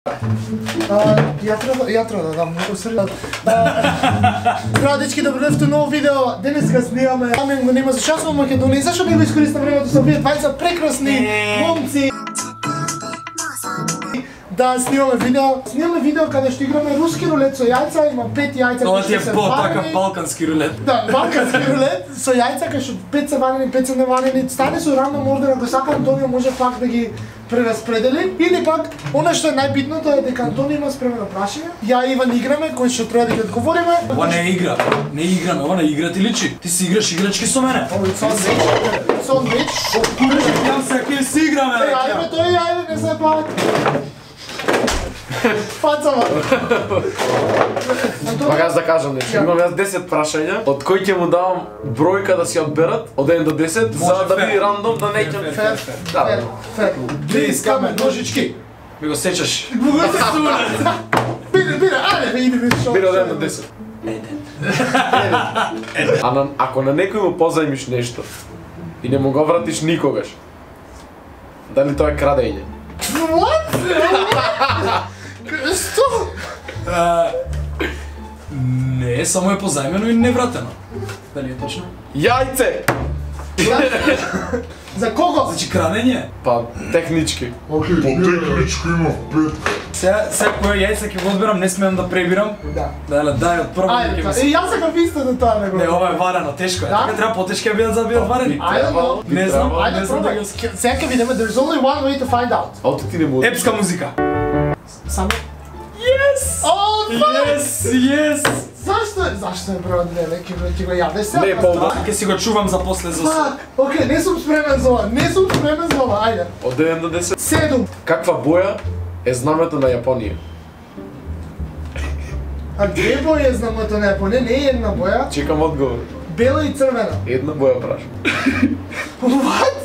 Ја треба да дам многу срдно. Здраво дечки, добро дојдовте ново видео. Денеска снимаме Амен го нема зашто сум во Македонија. Зашто би го искористам времето со овие двајца прекрасни момци да снимаме видео. Снимаме видео каде што играме руски рулет со јајца, има 5 јајца кои што се варени. Така балкански рулет. Да, балкански рулет со јајца кај што 5 се варени, 5 се неварени. Стане со рандом ордер, ако сака Антонио може пак да ги прераспредели, или пак она што е најбитното е дека Антонио има спремено прашање. Ја и Иван играме, кои што треба да ги одговориме. Ова не е игра. Не играме, ова на игра ти личи. Ти си играш играчки со мене. Ова е сандвич. Јам се ќе си играме. Ајде, тој ајде, не се пак. Фацава. Пак јас да кажам нешто. Имам јас 10 прашања, од кои ќе му давам бројка да си одберат од 1 до 10, за да биде рандом, да не ќе... Фер. Близ камен, ножички. Ми го сечаш. Биде, ајде, иде шо. Биде од 1 до 10. Ако на некој му позајмиш нешто и не му го вратиш никогаш, дали тоа е крадење? What? Што? Не, само е позајмено и невратено. Дали е точно? Јајце! За кого? Значи крадење? Па, технички. Океј, по техничко има 5. Сега кој јајца ќе го одберам, не смеам да пребирам. Да. Дале, дај од прво ќе ми се. Јас сакам истото тоа него. Не, ова е варено, тешко е. Така треба потешки да бидат за да бидат варени. Ајде, Не знам, ајде не знам да пробај. ги... Сега ќе видиме, there's only one way to find out. Ауто ти не му... Епска музика. Само. Yes! Oh, fuck! Yes! Зашто е број 2, ќе го јадеш сега? Не, по-добро. Ќе си го чувам за после за Фак! Океј, не сум спремен за ова, ајде. Од 1 до 10. 7. Каква боја е знамето на Јапонија? А две бои е знамето на Јапонија, не е една боја. Чекам одговор. Бела и црвена. Една боја прашам. What?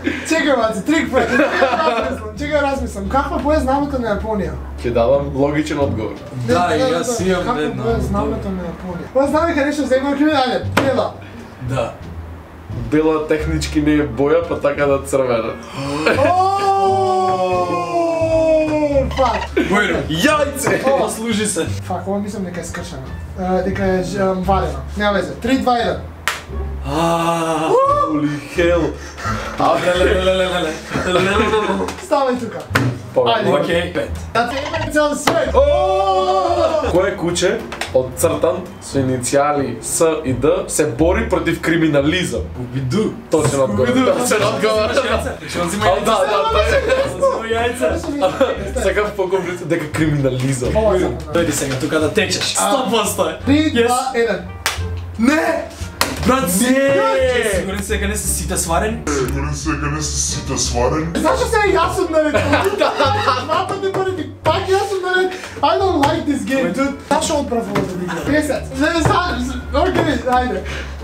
Чекај, маци, трик пред. Чекај, размислам. Каква боја е знамето на Јапонија? Ќе дадам логичен одговор. Да, и јас имам Каква една. боја е знамето на Јапонија? Ова знаме кај нешто земја криминале. Бела. Да. Бела технички не е боја, па така да црвена. Фак. Бојро. Јајце! Послужи се. Фак, ова мислам дека е скршено. Дека е варено. Нема везе. 3, 2, 1. Holy hell! Ставај тука. Ајде. Океј, 5. Да те има цел свет. Кој е куче одцртан со иницијали С и Д се бори против криминализам? Убиду. Точен одговор. Точен одговор. Ќе он зима Да, јајца. Сакам по-комплицирано дека криминализам. Дојди сега тука да течеш. 100%. 3, 2, 1. Не! Брат, не! Сигурен се дека не се сите сварени? Сигурен се дека не се сите сварени. Зашто се јас сум наред? Два пати пари, пак јас сум наред. I don't like this game, dude. Зашто одправо да игра? 10. Океј, ајде.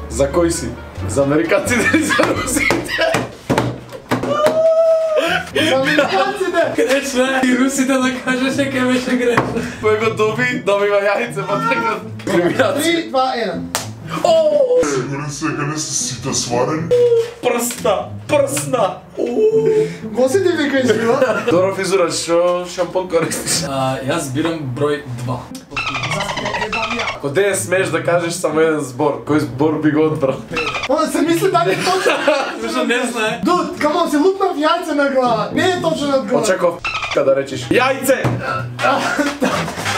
За кој си? За американците или за русите? За американците. Грешно е. И русите да кажеш дека беше грешно. Кој го добива јајце, па така криминација. 3, 2, 1. Сигурен се дека не се сите сварени. Прсна! Го си ти вика живо? Добро физура, шо шампон користиш? Јас бирам број 2. Ако де смеш да кажеш само еден збор, кој збор би го одбрал? Она се мисли дали точно. Зашто не знае? Дуд, камон, се лупнав јајце на глава. Не е точно одговор. Очеков да речеш јајце!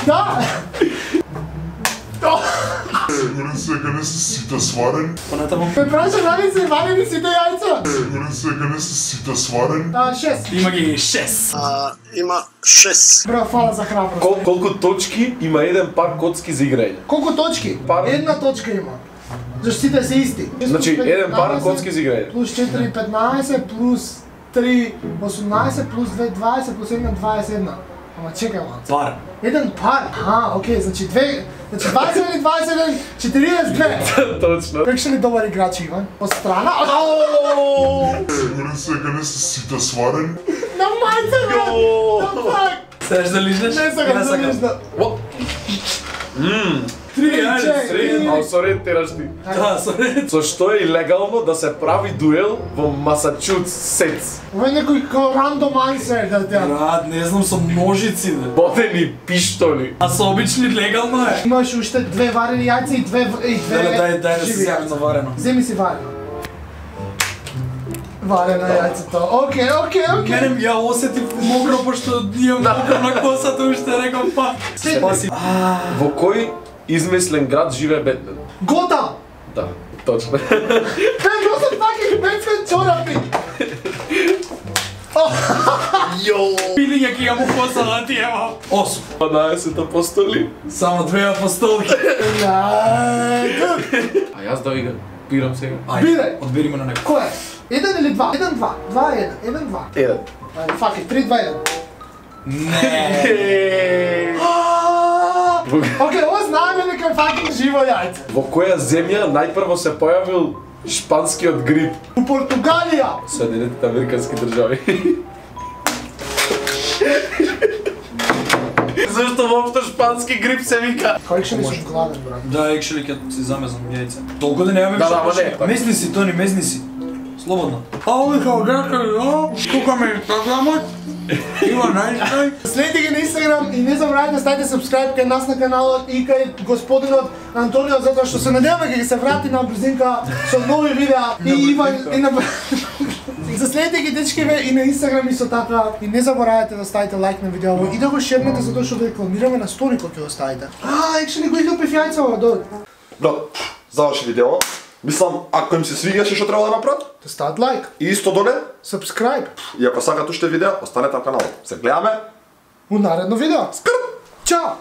Да. Сигурен се дека не се сите сварени. Понатаму. Ме праша дали се варени сите јајца? Сигурен се дека не се сите сварени. 6. Има ги 6. Има 6. Браво, фала за храброст. Колку точки има еден пар коцки за играње? Колку точки? Пар. Една точка има. Зашто сите се исти. Значи, еден пар коцки за играње. Плюс 4, 15, плюс 3, 18, плюс 2, 20, плюс 1, 21. Ама чекај, ман. Пар. Еден пар? Окей, значи 21, 21, 42. Точно. Како ли добар играч Иван? Од страна? Сигурен се дека не се сите сварени. На мајца, бе! На фак! Сакаш да лижнеш? Не сакам да лижна. 3, 3, ајде. А со ред тераш ти. Да, соред. Со што е илегално да се прави дуел во Масачусетс? Ова е некој као рандом ансер да те. Брат, не знам, со ножици, да. Ботени пиштоли. А со обични легално е. Имаш уште 2 варени јајца и 2 Дај да се живи сјавим јајца. на варено. Земи си варено. Варено јајцето. Океј. Мене ја осетив мокро, пошто имам мокро на косата, уште рекам па. Спаси. Во кој измислен град живее Бетмен? Готам! Да, точно. Бе, носам таки Бетмен чорапи! Пилиња ки ја му коса да ти ева. 8. 12 апостоли. Само 2 апостолки. А јас да ви го бирам сега. Бирај. Одбери ме на некој. Кој е? 1 или 2? 1, 2. 2, 1. 1, 2. Еден. Ајде, фак it, 3, 2, 1. Не. Океј, ова знаеме дека е факинг живо јајце. Во која земја најпрво се појавил шпанскиот грип? У Португалија. Соединетите американски држави. Зашто воопшто шпански грип се вика? Кој ќе не сум гладен, брат? Да, екшели ќе си замезам јајца. Толку да немаме Да, више ама не, прашања. така. Мезни си, Тони, мезни си. Слободно. Ау, као гракали, тука ме инстаграмот. Има најстај. Следите ги на Инстаграм и не забравяйте да ставите subscribe кај нас на каналот и кај господинот Антонио, затоа што се надеваме дека ќе се врати на брзинка со нови видеа и Иван и на Заследите ги дечкиве и на Инстаграм и со така и не заборавајте да ставите лайк на видеото и да го шернете затоа што да рекламираме на стори кој ќе го ставите. Екшели го идел пев јајца ова дол. Брат, заврши видео. Мислам, ако им се свигаше што треба да направат, Да стават лайк, и исто доле, subscribe. и ако сакат уште видеа, останете на каналот. Се гледаме. У наредно видео. Скрт! Чао!